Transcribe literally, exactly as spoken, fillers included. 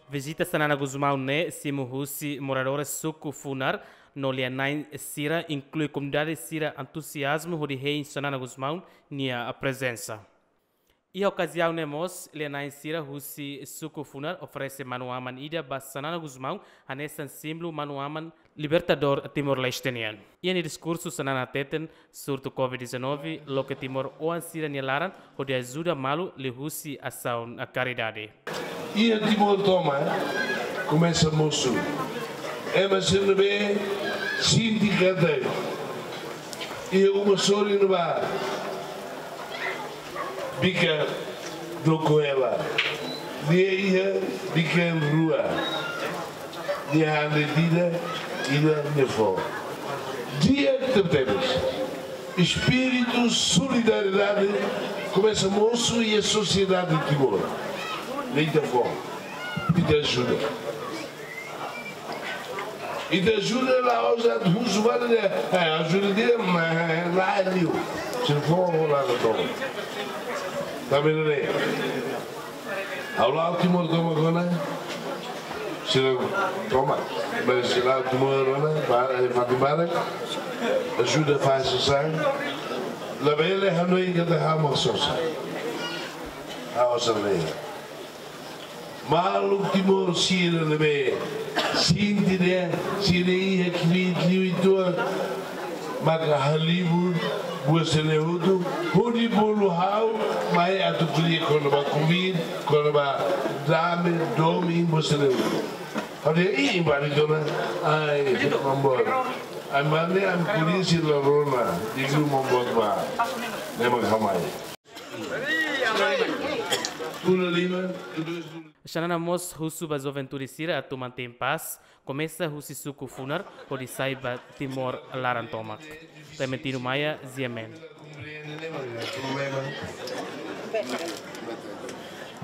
Vizita Xanana Gusmão ne'e simu husi moradores suku Funar, no lia-na'in sira inklui komunidade sira entuziazmu hodi hein Xanana Gusmão nia prezensa. Iha okaziaun ne'e mós, lia-na'in sira husi suku Funar oferese manu-aman ida ba Xanana Gusmão, hanesan símbolu manu-aman libertadór Timor-Leste nian. Iha nia diskursu Xanana hateten, surtu covid dezanove loke Timor oan sira-nia laran hodi ajuda malu liuhusi asaun karidade. Iha Timor tomak, komesa mosu. Ema sira ne'ebé sente katak iha uma sorin ne'ebá, bikan doko hela. Nia iha bikan rua. Nia han de'it ida, ida nia fó. Di'ak tebetebes. Espíritu solidariedade komesa mosu iha sosiedade Timor. Ne'e ita fó. Ita ajuda. Ita ajuda la'ós atu husu ba nia, eh, ajuda ida, mas la liu. Se for, vou lá no tom. Tá vendo aí? Ha'u la'o Timor tomak ona, sira tomak. Mas sira la'o Timor ona, ba, eh, fatin barak, ajuda fase sasán. Labele hanoin katak ha'u mak sosa. Ha'u osan lei. Maluk Timor sira ne'ebé sente dehan sira iha kbiit liu uitoan, maka halibur buat sira-ne'e hotu, hodi bolu ha'u mai atu ko'alia kona-ba kbiit, kona-ba dame, domin, buat sira-ne'e hotu. Ha'u dehan, ih, bari dona, ai, mambot. Ai, mane, ai, polísia la rona, digo mambot ba. Ne'e mak ha'u mai. Pula lima, kedua sepuluh. Xanana mós husu ba juventude sira atu mantein pás, komesa husi suku Funar hodi sai ba Timor laran tomak. Clementino Maia, G M N.